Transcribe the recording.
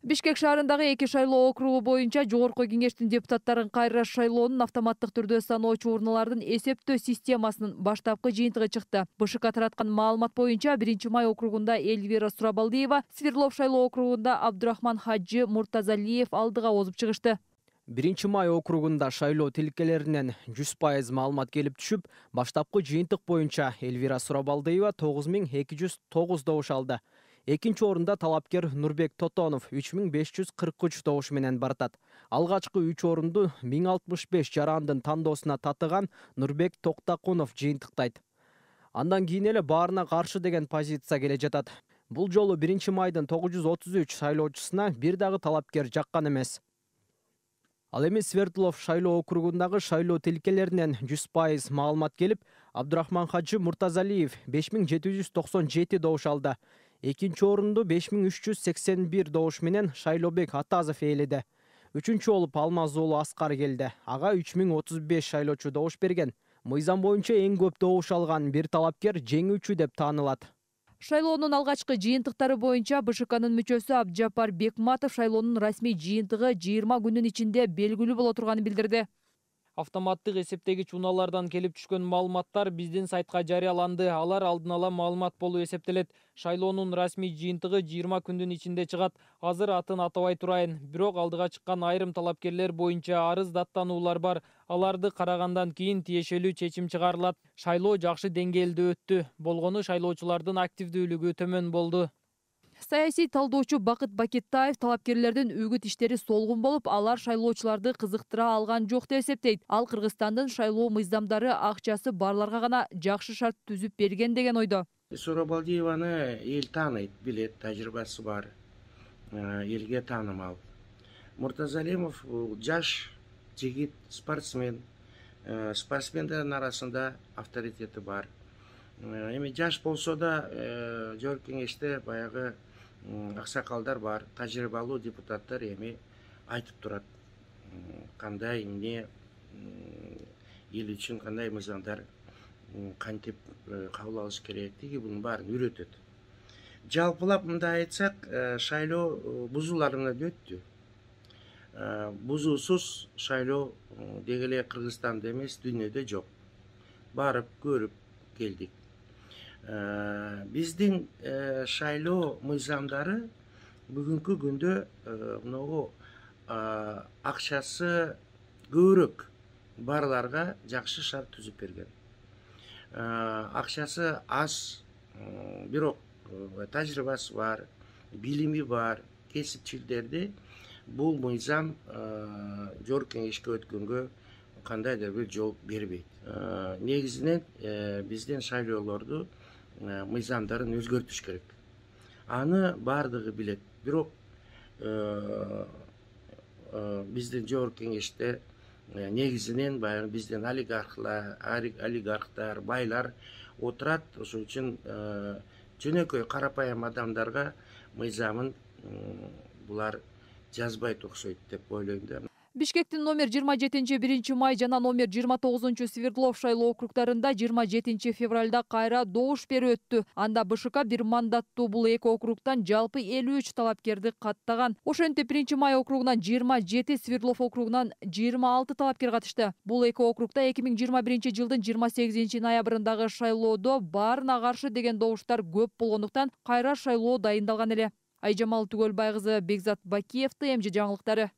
Бишкек шаарындагы 2 шайлоо округу боюнча Жогорку Кеңештин депутаттарын кайра шайлоонун автоматтык түрдө саноочу урналардын эсептөө системасынын баштапкы жыйынтыгы чыкты. БШК тараткан маалымат боюнча 1-май округунда Эльвира Сурабалдиева, Свердлов шайлоо округунда Абдурахман Хаджи Муртазалиев алдыга озуп чыгышты. 1-май округунда шайлоо тилкелеринен 100% маалымат келип түшүп, баштапкы жыйынтык боюнча Эльвира Сурабалдиева 9209 добуш алды. Экинчи орунда талапкер Нурбек Тотонов 3543 добуш менен баратат. Алгачкы 3 орунду 1065 жарандын тандоосуна татыган Нурбек Токтакунов жыйынтыктайт. Андан кийин эле баарына каршы деген позиция келе жатат. Бул жолу 1-майдын 933 шайлоочусуна бир дагы талапкер жаккан эмес. Ал эми Свердлов шайлоо округундагы шайлоо тилкелеринен 100% маалымат келип, Абдурахман Хаджи Муртазалиев 5797 добуш алды. Экинчи орунду 5381 добуш менен Шайлообек Атазов ээледи. Үчүнчү болуп Алмаз уулу Аскар келди. Ага 3035 шайлоочу добуш берген. Мыйзам боюнча эң көп добуш алган бир талапкер жеңүүчү деп таанылат. Шайлоонун алгачкы жыйынтыктары боюнча БШКнын мүчөсү Абджапар Бекматов шайлоонун расмий жыйынтыгы 20 күнүн ичинде белгилүү боло турганын билдирди. Автоматтык эсептегич унаалардан келип түшкөн маалыматтар биздин сайтка жарыяланды. Алар алдын ала маалымат болуп эсептелет. Шайлоонун расмий жыйынтыгы 20 күндүн ичинде чыгат. Азыр атын атабай турайын. Бирок алдыга чыккан айрым талапкерлер боюнча арыз даттануулар бар. Аларды карагандан кийин тиешелүү чечим чыгарылат. Шайлоо жакшы деңгээлде өттү. Болгону шайлоочулардын активдүүлүгү төмөн болду. Саясий талдоочу Бакыт Бакеттаев талапкерлердин үгүт иштери солгун болуп, алар шайлоочуларды кызыктыра алган жок деп эсептейт. Ал Кыргызстандын шайлоо мыйзамдары акчасы барларга гана жакшы шарт түзүп берген деген ойдо. Сурабалдиеваны эл тааныйт, билет, тажрыйбасы бар, элге таанымал. Муртазалимов жаш жигит, спортсмен. Спортсмендердин арасында авторитети бар. Эми жаш болсо да Жогорку Кеңеште баягы аксакалдар бар, тажрыйбалуу депутаттар эми айтып турат. Кандай эмне эл үчүн кандай мыйзамдар кантип кабыл алыш керектиги бунун баарын үйрөтөт. Жалпылап мындай айтсак, шайлоо бузуулар менен өттү. Бузуусуз шайлоо деги эле Кыргызстанда эмес, дүйнөдө жок. Барып көрүп келдик. Биздин шайлоо мыйзамдары бүгүнкү күндө могу акчасы көбүрөөк барларга жакшы шарт түзүп берген. Акчасы аз, бирок тажрыйбасы бар, билими бар кесипчилерди бул мыйзам Жогорку Кеңешке өткөнгө кандайдыр бир жол бербейт. Негизинен биздин шайлоолорду мыйзамдарын өзгөртүш керек. Аны бардыгы билет. Бирок биздин Жогорку Кеңеште негизинен баягы биздин олигархтар, байлар отурат. Ошон үчүн жөнөкөй карапайым адамдарга мыйзамын булар жазбайт окшойт деп ойлойм да. Бишкектин номер 27 1-май жана номер 29 Свердлов шайлоо округдарында 27 февралда кайра добуш берүү өттү. Анда БШК бир мандаттуу бул эки округтан жалпы 53 талапкерди каттаган. Ошентип 1-май округунан 27, Свердлов округунан 26 талапкер катышты. Бул эки округда 2021 жылдын 28 ноябрындагы шайлоодо баарына каршы деген добуштар көп болгондуктан кайра шайлоо дайындалган эле. Айжамал Түгөлбай кызы, Бекзат Бакиев, ТМЖ жаңылыктары.